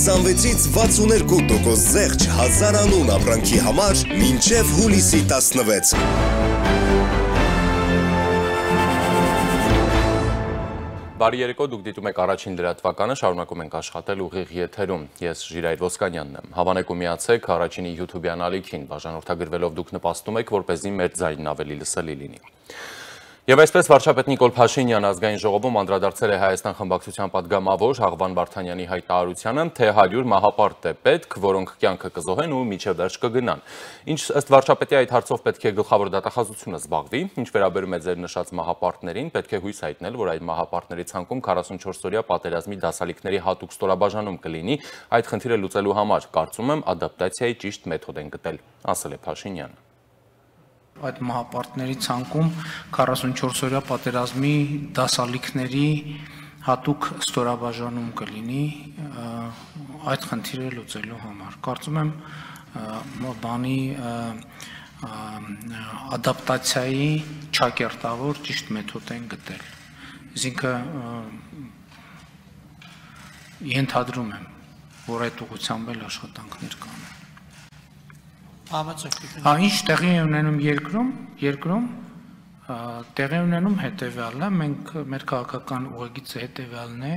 26-ից 62% զեղչ 1000 անուն ապրանքի համար մինչև հուլիսի 16։ Բարի երեկո, դուք դիտում եք առաջին լրատվականը, շարունակում ենք աշխատել ուղիղ եթերում։ Ես Ժիրայր Ոսկանյանն եմ։ Հավանեք ու միացեք առաջինի YouTube-յան ալիքին, բաժանորդագրվելով դուք նպաստում եք, որպեսզի մեր ձայնն ավելի լսելի լինի։ Եվ այսպես վարչապետ Նիկոլ Փաշինյանը ազգային ժողովում անդրադարձել է Հայաստան խմբակցության պատգամավոր Հաղվան Վարդանյանի հայտարարությանը, թե 100 մահապարտ է պետք, որոնք կյանքը կզոհեն ու մինչև վերջ կգնան։ Ինչ ըստ վարչապետի այդ հարցով պետք է գլխավոր դատախազությունը զբաղվի, ինչ վերաբերում է ձեր նշած մահապարտներին, պետք է հույս հայտնել, որ այդ մահապարտների ցանկում 44-օրյա պատերազմի դասալիքների հատուկ ստորաբաժանում կլինի, այդ խնդիրը լուծելու համար, կարծում եմ, ադապտացիայի ճիշտ մեթոդ են գտել, ասել է Փաշինյանը։ Այդ մահապարտների ցանկում 44-օրյա պատերազմի դասալիքների հատուկ ստորաբաժանում կլինի այդ խնդիրը լուծելու համար։ Կարծում եմ բանի ադապտացիայի ճակերտավոր ճիշտ մեթոդ են գտել։ Այսինքն ենթադրում եմ, որ այդ ուղղությամբ էլ աշխատանքներ կան։ Ինչ տեղի է ունենում երկրում տեղի ունենում հետևյալն է, մեր քաղաքական ուղեգիծը հետևյալն է,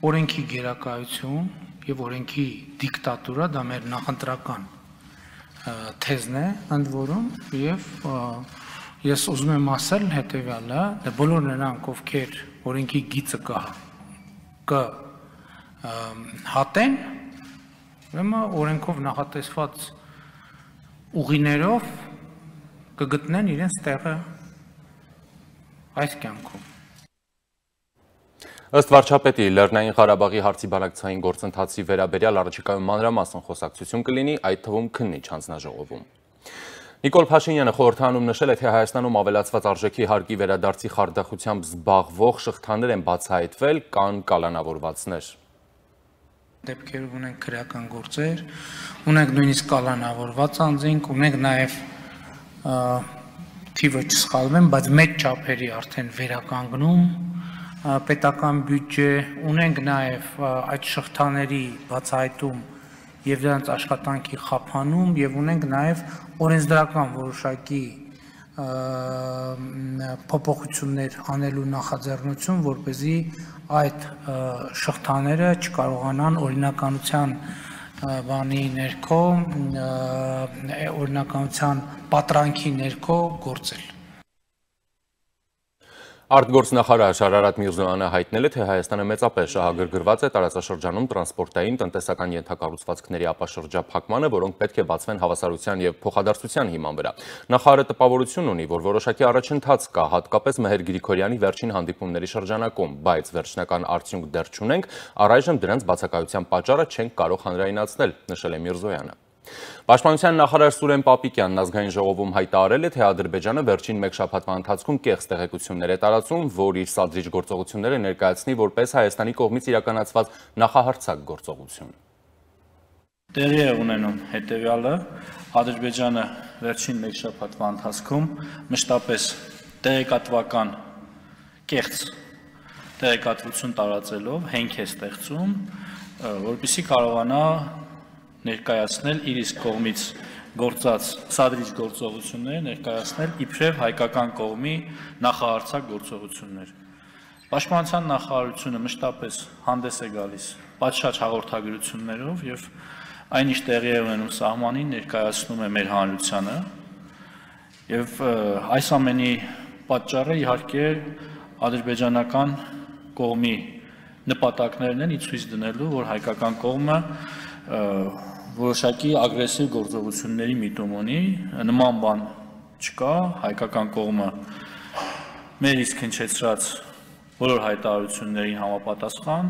օրենքի գերակայություն եւ օրենքի դիկտատուրա, դա մեր նախընտրական թեզն է, ընդ որում, եւ ես ուզում եմ ասել հետևյալը, բոլոր նրանք, ովքեր օրենքի գիծը կհատեն, ուրեմն օրենքով նախատեսված ուղիներով կգտնեն իրենց տեղը այս կյանքում։ Ըստ վարչապետի, Լեռնային Ղարաբաղի հարցի բանակցային գործընթացի վերաբերյալ առաջիկայում մանրամասն խոսակցություն կլինի, այդ թվում քննիչ հանձնաժողովում։ Նիկոլ Փաշինյանը խորհրդանում նշել է, թե Հայաստանում ավելացված արժեքի հարկի վերադարձի խարդախությամբ զբաղվող շղթաներ են բացահայտվել, կան կալանավորվածներ։ Դեպքերով ունենք քրեական գործեր, ունենք նույնիսկ կալանավորված անձինք, ունենք նաև թիվը չսխալվեմ, բայց մեծ չափերի արդեն վերականգնում պետական բյուջե, ունենք նաև այդ շղթաների բացահայտում եւ դրանց աշխատանքի խափանում եւ ունենք նաև օրենսդրական որոշակի փոփոխություններ անելու նախաձեռնություն, որպեսզի այդ շղթաները չկարողանան օրինականության բանի ներքո, օրինականության պատրանքի ներքո գործել։ Արտգործնախարար Շարարատ Միրզոյանը հայտնել է, թե Հայաստանը մեծապես շահագրգռված է տարածաշրջանում տրանսպորտային տնտեսական ենթակառուցվածքների ապաշրջափակմանը, որոնք պետք է բացվեն հավասարության եւ փոխադարձության հիման վրա։ Նախարարը տպավորություն ունի, որ որոշակի առաջընթաց կա, հատկապես Մհեր Գրիգորյանի վերջին հանդիպումների շրջանակում, բայց վերջնական արդյունք դեռ չունենք, առայժմ դրանց բացակայության պատճառը չենք կարող հանրայնացնել, նշել է Միրզոյանը։ Պաշտպանության նախարար Սուրեն Պապիկյանն ազգային ժողովում հայտարարել է, թե Ադրբեջանը վերջին մեկ շաբաթվա ընթացքում կեղծ տեղեկություններ է տարածում, որ իր սադրիչ գործողությունները ներկայացնի որպես Հայաստանի կողմից իրականացված նախահարձակ գործողություն։ Տեղի է ունենում հետևյալը, Ադրբեջանը վերջին մեկ շաբաթվա ընթացքում մշտապես տեղեկատվական կեղծ տեղեկատվություն տարածելով հենք է ստեղծում, որպեսզի կարողանա ներկայացնել իր իսկ կողմից գործած սադրիչ գործողությունները ներկայացնել իբրև հայկական կողմի նախահարձակ գործողություններ։ Պաշտպանության նախարարությունը մշտապես հանդես է գալիս պատշաճ հաղորդագրություններով եւ այն ինչ տեղի է ունենում սահմանին ներկայացնում է մեր հանրությանը եւ այս ամենի պատճառը իհարկե ադրբեջանական կողմի նպատակներն են ի ցույց դնելու, որ հայկական կողմը որոշակի ագրեսիվ գործողությունների միտում ունի, նման բան չկա, հայկական կողմը մեր իսկ հնչեցրած բոլոր հայտարարություններին համապատասխան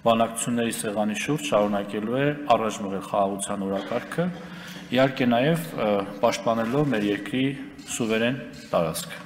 բանակցությունների սեղանի շուրջ շարունակելու է առաջ մղել խաղաղության օրակարգը, իհարկե նաև պաշտպանելով մեր երկրի սուվերեն տարածքը։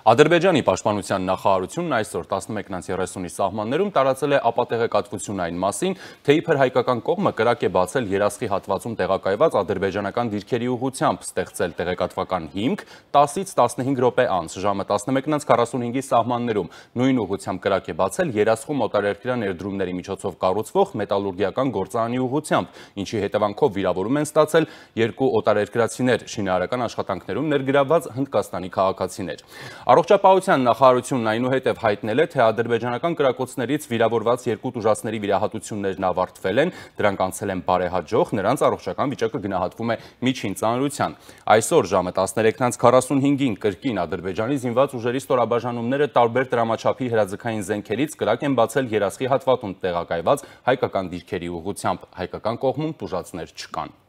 Ադրբեջանի պաշտպանության նախարարությունն այսօր 11:30-ի սահմաններում տարածել է ապատեղեկատվություն այն մասին, թե իբր հայկական կողմը կրակ է բացել երասխի հատվածում տեղակայված ադրբեջանական դիրքերի ուղղությամբ ստեղծել տեղեկատվական հիմք 10-ից 15 րոպե անց ժամը 11:45-ի սահմաններում նույն ուղղությամբ կրակ է բացել երասխում օտարերկրյա ներդրումների միջոցով կառուցվող մետալուրգիական գործարանի ուղղությամբ, ինչի հետևանքով վիրավորում են ստացել 2 օտարերկրացիներ, շինարարական աշխատանքներում ներգրավված հնդկաստանի քաղաքացիներ։ Առողջապահության նախարարությունն այնուհետև հայտնել է, թե ադրբեջանական կրակոցներից վիրավորված 2 տուժածների վիրահատություններն ավարտվել են, դրանք անցել են բարեհաջող, նրանց առողջական վիճակը գնահատվում է միջին ծանրության։ Այսօր ժամը 13:45-ին կրկին Ադրբեջանի զինված ուժերի ստորաբաժանումները տարբեր դրամաչափի հրաձգային զենքերից կրակ են բացել երասխի հատվածում տեղակայված հայկական դիրքերի ուղղությամբ, հայկական կողմում տուժածներ չկան։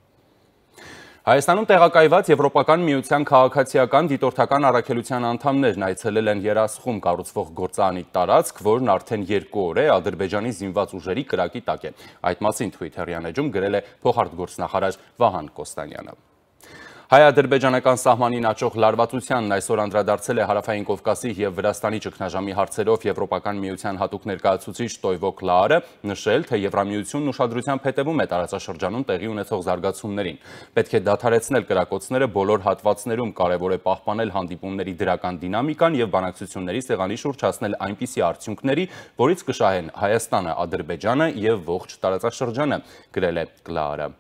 Հայաստանում տեղակայված Եվրոպական միության քաղաքացիական դիտորդական առաքելության անդամներն այցելել են երասխում կառուցվող գործարանի տարածք, որն արդեն 2 օր է Ադրբեջանի զինված ուժերի կրակի տակ է։ Այդ մասին Twitter-յան էջում գրել է փոխարտգործնախարար Վահան Կոստանյանը։ Հայ-ադրբեջանական սահմանին աճող լարվածությանն այսօր անդրադարձել է Հարավային Կովկասի և Վրաստանի ճգնաժամի հարցերով Եվրոպական միության հատուկ ներկայացուցիչ Տոյվո Կլաարը, նշել, թե Եվրամիությունն ուշադրությամբ հետևում է տարածաշրջանում տեղի ունեցող զարգացումներին։ Պետք է դադարեցնել կրակոցները բոլոր հատվածներում, կարևոր է պահպանել հանդիպումների դրական դինամիկան և բանակցությունների սեղանի շուրջ հասնել այնպիսի արդյունքների, որից կշահեն Հայաստանը, Ադրբեջանը և ողջ տարածաշրջանը, գրել է Կլաարը։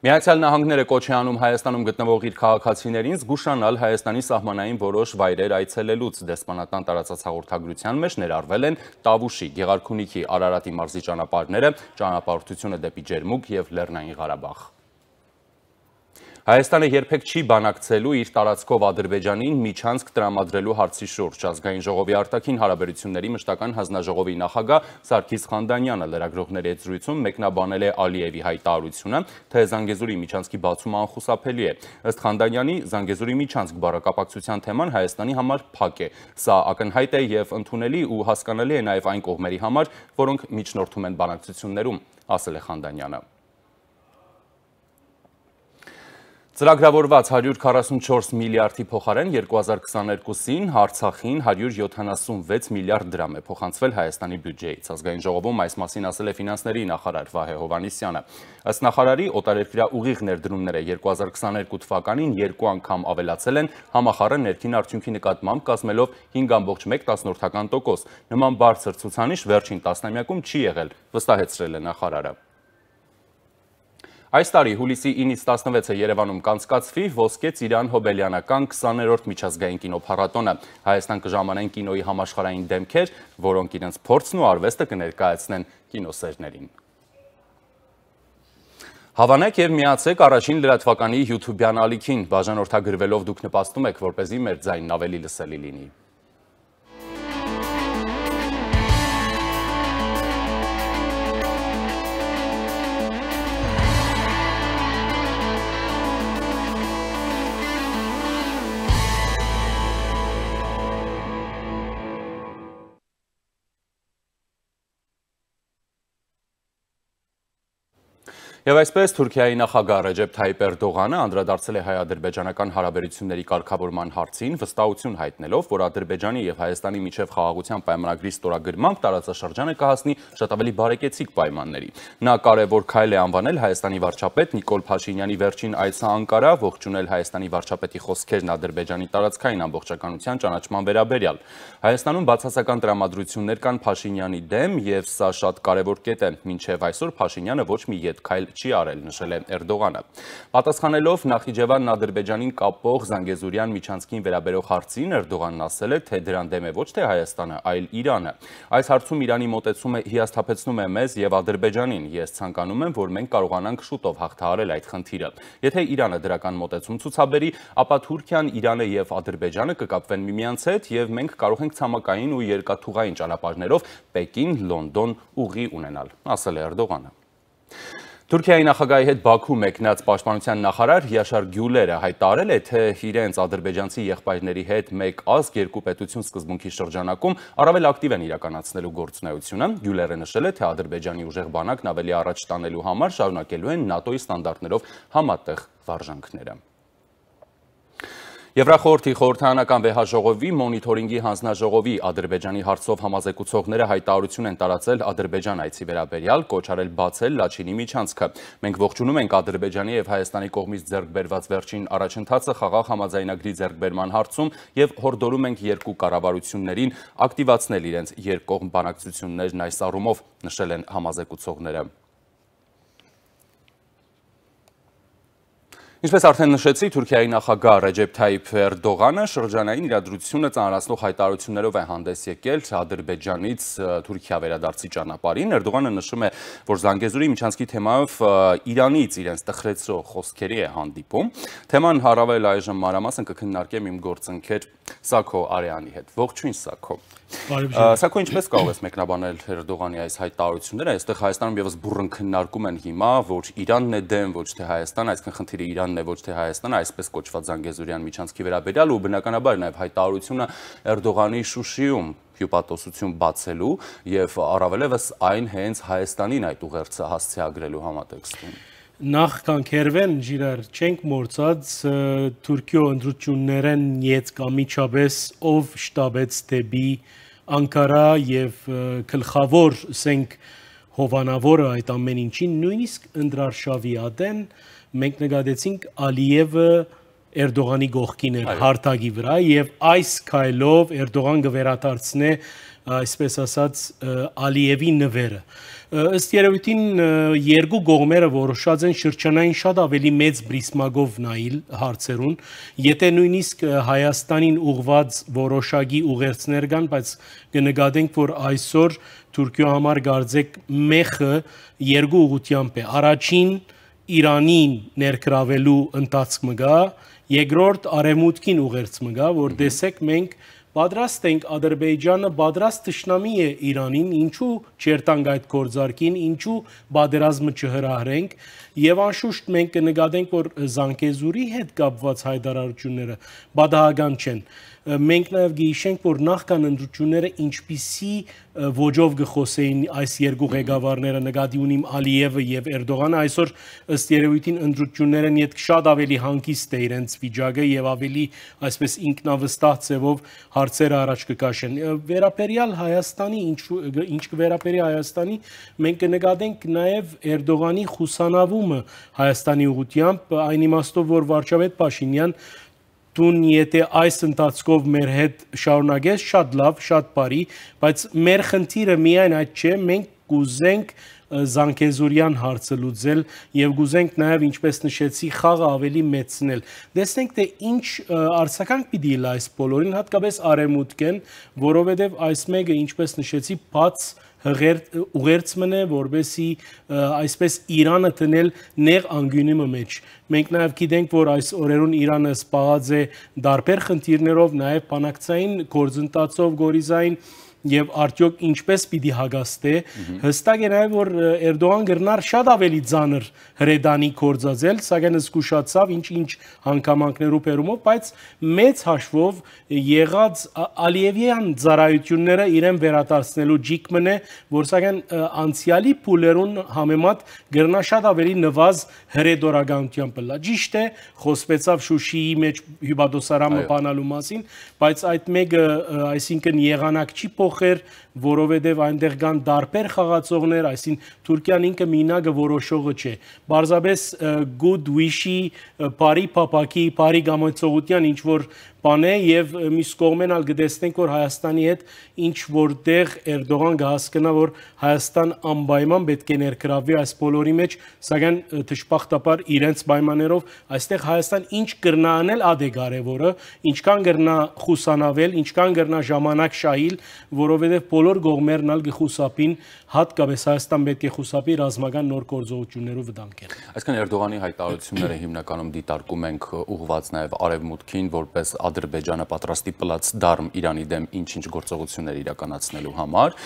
Միացյալ Նահանգները կոչ է անում Հայաստանում գտնվող իր քաղաքացիներին զգուշանալ Հայաստանի սահմանային որոշ վայրեր այցելելուց։ Դեսպանատան տարածած հաղորդագրության մեջ ներառվել են Տավուշի, Գեղարքունիքի, Արարատի մարզի ճանապարհները, ճանապարհորդությունը դեպի Ջերմուկ և Լեռնային Ղարաբաղ։ Հայաստանը երբեք չի բանակցելու իր տարածքով Ադրբեջանին միջանցք տրամադրելու հարցի շուրջ։ Ազգային ժողովի արտաքին հարաբերությունների մշտական հանձնաժողովի նախագահ Սարգիս Խանդանյանը լրագրողների հետ զրույցում մեկնաբանել է Ալիևի հայտարարությունը, թե Զանգեզուրի միջանցքի բացումը անխուսափելի է։ Ըստ Խանդանյանի, Զանգեզուրի միջանցք բառակապակցության թեման Հայաստանի համար փակ է։ Սա ակնհայտ է և ընդունելի ու հասկանալի է նաև այն կողմերի համար, որոնք միջնորդում են բանակցություններում, ասել է Խանդանյանը։ Ծրագրավորված 144 միլիարդի փոխարեն 2022-ին Արցախին 176 միլիարդ դրամ է փոխանցվել Հայաստանի բյուջեից։ Ազգային ժողովում այս մասին ասել է ֆինանսների նախարար Վահե Հովհաննիսյանը։ Ըստ նախարարի, օտարերկրյա ուղիղ ներդրումները 2022 թվականին 2 անգամ ավելացել են համախառն ներքին արդյունքի նկատմամբ, կազմելով 5,1%։ Նման բարձր ցուցանիշ վերջին տասնամյակում չի եղել, վստահեցրել է նախարարը։ Այս տարի հուլիսի 9-ից 16-ը Երևանում կանցկացվի Ոսկե Ծիրան Հոբելյանական 20-րդ միջազգային կինոփառատոնը։ Հայաստան կժամանեն կինոյի համաշխարհային դեմքեր, որոնք իրենց փորձն ու արվեստը կներկայացնեն կինոսերներին։ Հավանեք և միացեք առաջին լրատվականի YouTube-յան ալիքին, բաժանորդագրվելով դուք նպաստում եք, որպեսզի մեր ձայնն ավելի լսելի լինի։ Եվ այսպես Թուրքիայի նախագահ Ռեջեփ Թայիպ Էրդողանը անդրադարձել է հայ-ադրբեջանական հարաբերությունների կարգավորման հարցին, վստահություն հայտնելով, որ Ադրբեջանի և Հայաստանի միջև խաղաղության պայմանագրի ստորագրմամբ տարածաշրջանը կհասնի շատ ավելի բարեկեցիկ պայմանների։ Նա կարևոր քայլ է անվանել Հայաստանի վարչապետ Նիկոլ Փաշինյանի վերջին այցը Անկարա, ողջունել Հայաստանի վարչապետի խոսքերն Ադրբեջանի տարածքային ամբողջականության ճանաչման վերաբերյալ։ Հայաստանում բացասական տրամադրություններ կան Փաշինյանի դեմ, և սա շատ կարևոր կետ է։ Մինչև այսօր Փաշինյանը ոչ մի ետ քայլ չի արել, նշել է Էրդողանը։ Պատասխանելով Նախիջևանն Ադրբեջանին կապող Զանգեզուրյան միջանցքին վերաբերող հարցին, Էրդողանն ասել է, թե դրան դեմ է ոչ թե Հայաստանը, այլ Իրանը։ Այս հարցում Իրանի մոտեցումը հիասթափեցնում է մեզ և Ադրբեջանին։ Ես ցանկանում եմ, որ մենք կարողանանք շուտով հաղթահարել այդ խնդիրը։ Եթե Իրանը դրական մոտեցում ցուցաբերի, ապա Թուրքիան, Իրանը և Ադրբեջանը կկապվեն միմյանց հետ, և մենք կարող ենք ցամաքային ու երկաթուղային ճանապարհներով Պեկին, Լոնդոն ուղի ունենալ, ասել է Էրդողանը։ Թուրքիայի նախագահի հետ Բաքու մեկնած պաշտպանության նախարար Յաշար Գյուլերը հայտարարել է, թե իրենց ադրբեջանցի եղբայրների հետ մեկ ազգ երկու պետություն սկզբունքի շրջանակում առավել ակտիվ են իրականացնելու գործունեությունը։ Գյուլերը նշել է, թե Ադրբեջանի ուժեղ բանակն ավելի առաջ տանելու համար շարունակելու են ՆԱՏՕ-ի ստանդարտներով համատեղ վարժանքները։ Եվրախորհրդի խորհրդարանական վեհաժողովի մոնիթորինգի հանձնաժողովի Ադրբեջանի հարցով համազեկուցողները հայտարարություն են տարածել Ադրբեջան այցի վերաբերյալ, կոչ արել բացել Լաչինի միջանցքը։ Մենք ողջունում ենք Ադրբեջանի եւ Հայաստանի կողմից ձեռք բերված վերջին առաջընթացը խաղաղ համաձայնագրի ձեռքբերման հարցում եւ հորդորում ենք երկու կառավարություններին ակտիվացնել իրենց երկկողմ բանակցություններն այս առումով, նշել են համազեկուցողները։ Ինչպես արդեն նշեցի, Թուրքիայի նախագահ Ռեջեփ Թայիփ Էրդողանը շրջանային իրադրությունը ծանրացնող հայտարարություններով է հանդես եկել Ադրբեջանից Թուրքիա վերադարձի ճանապարհին։ Էրդողանը նշում է, որ Զանգեզուրի միջանցքի թեմայով Իրանից իրենց տխրեցրող խոսքերի է հանդիպում։ Թեման առավել այժմ մանրամասն կքննարկեմ իմ գործընկեր Սաքո Արեանի հետ։ Ողջույն Սաքո։ Սաքո, ինչպես կարող ես մեկնաբանել Էրդողանի այս հայտարարությունները, այստեղ Հայաստանում եւս բուռն քննարկում են հիմա, որ Իրանն է դեմ, ոչ թե Հայաստան, այսինքն խնդիրը Իրանն է, ոչ թե Հայաստանը, այսպես կոչված Զանգեզուրյան միջանցքի վերաբերյալ ու բնականաբար նաեւ հայտարարությունը Էրդողանի Շուշիում հյուպատոսություն բացելու եւ առավելևս այն հենց Հայաստանին այդ ուղերձը հասցեագրելու համատեքստում։ Նախ կանքերվեն ջիրար չենք մորցած Թուրքիո ընդրություններեն յետ կամիչաբես ով շտաբեց դեպի Անկարա եւ գլխավոր սենք հովանավորը այդ ամեն ինչին նույնիսկ ընդրարշավի ադեն մենք նկատեցինք Ալիևը Էրդողանի գողքին էր հարթակի վրա եւ այս քայլով Էրդողան կվերադարձնե այսպես ասած Ալիևի նվերը ըստ երևույթին երկու կողմերը որոշած են շրջանային շատ ավելի մեծ բրիսմագով նայել հարցերուն եթե նույնիսկ Հայաստանին ուղված որոշակի ուղերձներ կան բայց կնկատենք որ այսօր Թուրքիո համար գարձեք մեխը երկու ուղղությամբ է առաջին Իրանին ներգրավելու ընթացքը գա երկրորդ արևմուտքին ուղերձը գա որ տեսեք մենք Պատրաստ ենք Ադրբեջանը պատրաստ թշնամի է Իրանին, ինչու չերտանք այդ գործարքին, ինչու պատերազմը չհրահրենք եւ անշուշտ մենք կնկատենք որ Զանգեզուրի հետ կապված հայտարարությունները բադահական չեն։ Մենք նաև գիշենք, որ նախքան ընդրությունները ինչպիսի ոճով գխոսեին այս երկու ղեկավարները նկատի ունիմ Ալիևը եւ Էրդողանը այսօր ըստ երևույթին ընդրությունները նիետ շատ ավելի հանգիստ է իրենց վիճակը եւ ավելի այսպես ինքնավստահ ձևով հարցերը առաջ կքաշեն վերապերյալ Հայաստանի ինչ կվերապերի Հայաստանի մենք կնկատենք նաև Էրդողանի խուսանավումը Հայաստանի ուղղությամբ այն իմաստով որ վարչապետ Փաշինյան Տուն եթե այս ընթացքով մեր հետ շարունակես շատ լավ, շատ բարի, բայց մեր խնդիրը միայն այդ չէ, մենք կուզենք Զանգեզուրյան հարցը լուծել եւ կուզենք նաեւ ինչպես նշեցի խաղը ավելի մեծնել։ Տեսնենք թե ինչ արձագանք պիտի լա այս բոլորին, հատկապես արևմուտքեն, որովհետեւ այս մեկը ինչպես նշեցի բաց ուղերձ մնե, որբեսի այսպես Իրանը տնել նեղ անգյունիմը մեջ։ Մենք նաև գիտենք, որ այս օրերուն Իրանը սպառած է դարբեր խնդիրներով, նաև բանակցային գործընթացով, գորիզային եւ արդյոք ինչպես պիտի հագաստե հստակ է նաեւ որ Էրդողան գրնար շատ ավելի ծանր հրեդանի կորձածել սակայն զգուշացավ ինչ հանգամանքներով բերումով բայց մեծ հաշվով եղած Ալիևյան ծառայությունները իրեն վերադարձնելու ջիկ մնե որ սակայն անցյալի փուլերուն համեմատ գրնա շատ ավելի նվազ հրեդորականությամբ լա ճիշտ է խոսվեցավ Շուշիի մեջ հյուպատոսարանը բանալու մասին բայց այդ մեկը այսինքն եղանակ չի որովհետև այնտեղ կան դարբեր խաղացողներ, այսինքն Թուրքիան ինքը մինագը որոշողը չէ։ Բարձրապես good wish-ի, բարի փապակի, բարի գամեցողության ինչ որ բան է եւ մյուս կողմեն ալ գտեսնենք որ Հայաստանի հետ ինչ որտեղ Էրդողան կհասկանա որ Հայաստան անպայման պետք է ներգրավվի այս բոլորի մեջ, սակայն դժբախտաբար իրենց պայմաններով այստեղ Հայաստան ինչ կրնա անել ադե կարևորը, ինչքան կրնա խուսանավել, ինչքան կրնա ժամանակ շահիլ, որովհետեւ բոլոր կողմերն ալ կխուսափին, հատկապես Հայաստան պետք է խուսափի ռազմական նոր գործողություններով վտանգել։ Այսինքն Էրդողանի հայտարարությունները հիմնականում դիտարկում ենք ուղղված նաեւ արևմուտքին, որպես Ադրբեջանը պատրաստի պլաց դարմ Իրանի դեմ ինչ-ինչ գործողություններ իրականացնելու համար,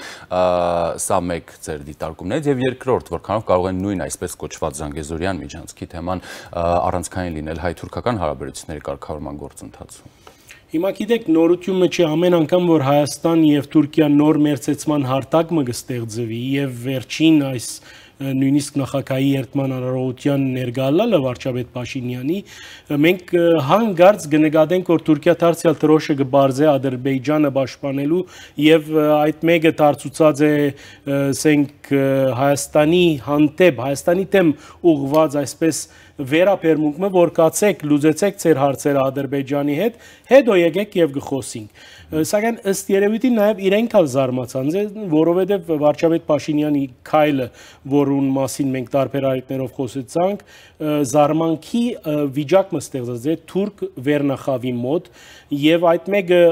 սա մեկ ձեր դիտարկումներից եւ երկրորդ, որքանով կարող են նույն այսպես կոչված Զանգեզուրյան միջանցքի թեման առանցքային լինել հայ-թուրքական հարաբերությունների կարգավորման գործընթացում։ Հիմա գիտեք նորությունը չէ ամեն անգամ որ Հայաստան եւ Թուրքիա նոր մերձեցման հարթակ մը կստեղծվի եւ վերջին այս նույնիսկ նախագահի երդման արարողության ներգալալը վարչապետ Փաշինյանի մենք հանգարց կնկատենք որ Թուրքիա դարձյալ դրոշը կբարձե Ադրբեջանը պաշտպանելու եւ այդ մեկը դարձուցած է ասենք Հայաստանի հանդեպ Հայաստանի դեմ ուղղված այսպես վերապերմունքը որ կացեք լուծեցեք ձեր հարցերը Ադրբեջանի հետ հետո եկեք եւ գխոսենք սակայն ըստ երևույթի նաեւ իրենք ալ զարմացան որովհետեւ վարչապետ Փաշինյանի քայլը որուն մասին մենք տարբեր այդներով խոսեցանք զարմանքի վիճակ մստեղծած է թուրք վերնախավի մոտ եւ այդ մեկը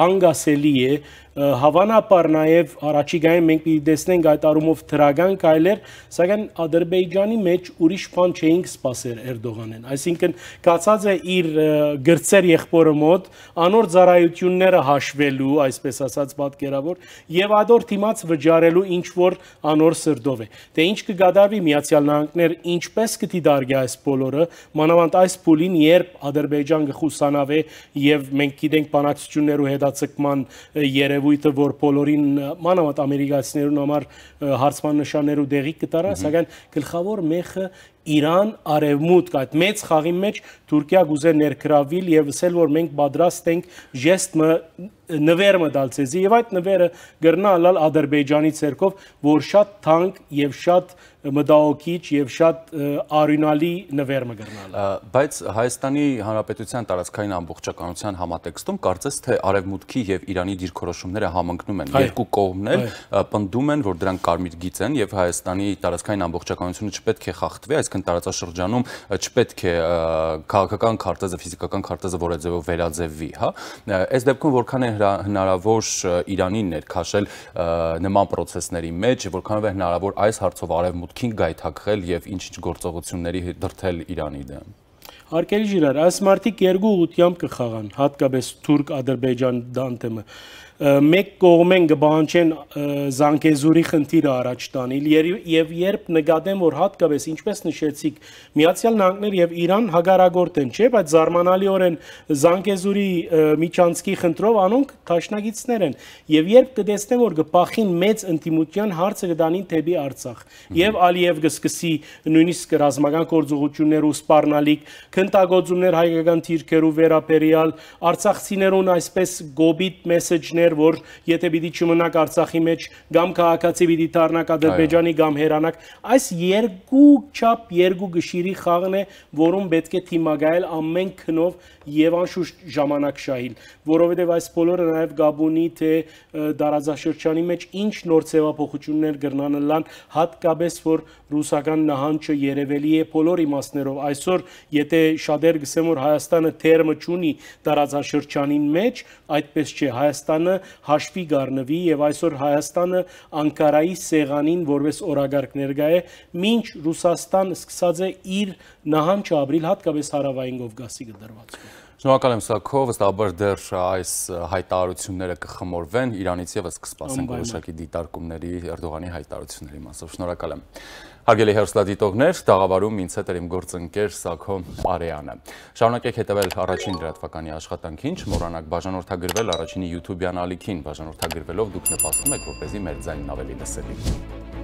անգասելի է հավանաբար նաև առաջիկայում մենք պիտի տեսնենք այդ առումով թրագան կայլեր, սակայն Ադրբեջանի մեջ ուրիշ բան չէինք սպասել Էրդողանեն, այսինքն կացած է իր գրծեր եղբորը մոտ անոր ծառայությունները հաշվելու, այսպես ասած պատկերավոր, եւ ադոր թիմած վճարելու ինչ որ անոր սրտով է։ Դե ինչ կգադարվի Միացյալ Նահանգներ ինչպես կդիտարկի այս բոլորը, մանավանդ այս փուլին, երբ Ադրբեջան կխուսանավե եւ մենք գիտենք բանակցություններու հետաձգման երևույթը, որ բոլորին մանավանդ ամերիկացիներուն համար հարցման նշաններու դեղի կտարա, սակայն գլխավոր մեխը Իրան արևմուտք այդ մեծ խաղի մեջ Թուրքիա գուզե ներգրավել եւ ասել որ մենք պատրաստ ենք ժեստը նվերը դալցեզի եւ այդ նվերը գրնա ալալ Ադրբեջանի ցերկով որ շատ թանկ եւ շատ մտահոգիչ եւ շատ արյունալի նվեր մգրնալ բայց Հայաստանի Հանրապետության տարածքային ամբողջականության համատեքստում կարծես թե արևմուտքի եւ Իրանի դիրքորոշումները համընկնում են երկու կողմն էլ պնդում են որ դրանք կարմիր գիծ են եւ Հայաստանի տարածքային ամբողջականությունը չպետք է խախտվի այսինքն տարածաշրջանում չպետք է քաղաքական քարտեզը ֆիզիկական քարտեզը որը ձևով վերաձևվի հա այս դեպքում որքան է հնարավոր Իրանին ներքաշել նման process-ների մեջ որքանով է հնարավոր այս հարցով արևմուտքին գայթակղել եւ ինչ-ինչ գործողությունների դրդել Իրանի դեմ Հարկելի ժիրար, այս մարդիկ երկու ուղղությամբ կխաղան, հատկապես Թուրք-Ադրբեջան դանտեմը մեկ կողմեն կբանջեն Զանգեզուրի խնդիրը առաջ տանել եւ երբ նկատեն որ հատկապես ինչպես նշեցիք Միացյալ Նահանգներ եւ Իրան հագարագորտ են չէ բայց զարմանալիորեն Զանգեզուրի միջանցքի խնդրով անոնք տաշնագիցներ են եւ երբ կտեսնեն որ կփախին մեծ ինտիմության հարցը կդանին թեպի Արցախ եւ Ալիև կսկսի նույնիսկ ռազմական գործողություններ ու սպառնալիք քննտագործումներ հայկական թիրքերու վերաբերյալ արցախցիներուն այսպես գոբիտ մեսեջներ որ եթե պիտի չմնաք Արցախի մեջ կամ քաղաքացի պիտի դառնաք Ադրբեջանի կամ հերանաք այս երկու չափ երկու գշիրի խաղն է որում պետք է թիմագայել ամեն քնով եւ անշուշտ ժամանակ շահիլ որովհետեւ այս բոլորը նաեւ Գաբոնի թե դարաձաշրջանի մեջ ինչ նոր ձևափոխություններ կրնանալան հատկապես որ ռուսական նահանջը երևելի է բոլոր իմաստներով այսօր եթե շատեր գսեմ որ Հայաստանը թերմը չունի դարաձաշրջանին մեջ այդպես չէ Հայաստանը հաշվի գառնվի եւ այսօր Հայաստանը Անկարայի սեղանին որպես օրագարկ ներկա է մինչ Ռուսաստան սկսած է իր նահանջը ապրիլ հատկապես հարավային Կովկասի դրված Շնորհակալ եմ Սաքո, վստահաբար դեռ այս հայտարարությունները կխմորվեն, Իրանից եւս կսպասենք որոշակի դիտարկումների Էրդողանի հայտարարությունների մասով։ Շնորհակալ եմ։ Հարգելի հեռուստադիտողներ, տաղավարում ինձ հետ էր իմ գործընկեր Սաքո Արեանը։ Շարունակեք հետևել առաջին լրատվականի աշխատանքին, չմոռանաք բաժանորդագրվել առաջինի YouTube-յան ալիքին, բաժանորդագրվելով դուք նպաստում եք, որպեսզի մեր ձայնն ավելի լսելի լինի։